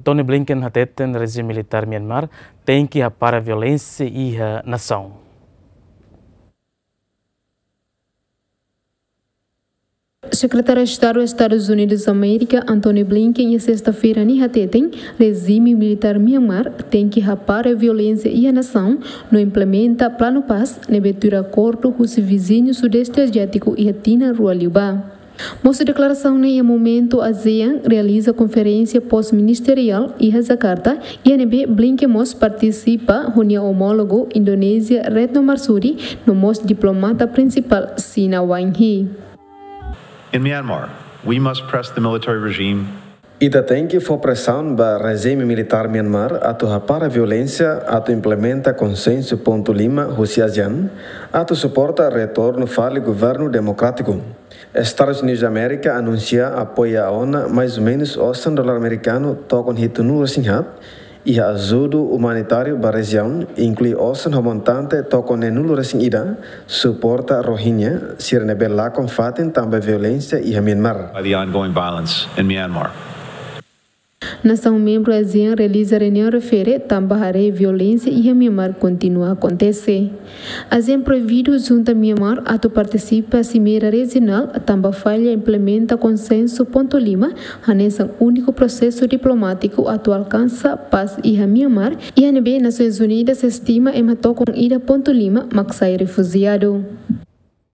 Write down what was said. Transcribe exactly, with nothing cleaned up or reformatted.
Antony Blinken hateten rejime militár Myanmar tenke hapara violénsia iha nasaun. Sekretáriu Estadu Estadus Unidus Amérika, Antony Blinken, iha sesta-feira ne'e hateten, rejime militár Myanmar tenke hapara violénsia iha nasaun no implementa planu pás ne'ebé tuir akordu husi viziñu Sudeste Aziátiku iha tinan rua liubá. Mós deklarasaun ne'e iha momentu ASEAN realiza konferénsia pós-ministeriál iha Jakarta, iha ne'ebé Blinken mós partisipa ho nia omólogu Indonézia Retno Marsudi, no mós diplomata prinsipál Xina Wang Yi. In Myanmar, we must press the military regime. Ita tenke fó presaun ba rejime militár Myanmar atu hapara violénsia, atu implementa konsensu pontu lima husi ASEAN, atu suporta retornu fali governu demokrátiku. Estadus Unidus Amérika anunsia apoia ona mais ou menus osan dolar amerikanu tokon hitunulu-resin-haat, iha ajuda umanitáriu ba rejiaun, inklui osan ho montante tokon neenulu-resin-ida, suporta Rohingya sira ne'ebé lakon fatin tanba violénsia iha Myanmar. By the ongoing violence in Myanmar. Nasaun membru ASEAN realiza reuniaun refere tanba haree violénsia iha Myanmar kontinua akontese. ASEAN proibidu junta Myanmar atu partisipa simeira rejionál tanba falla implementa konsensu pontu lima, hanesan úniku prosesu diplomátiku atu alkansa pás iha Myanmar, iha ne'ebé Nasoins Unidas estima ema tokon ida pontu lima mak sai refujiadu.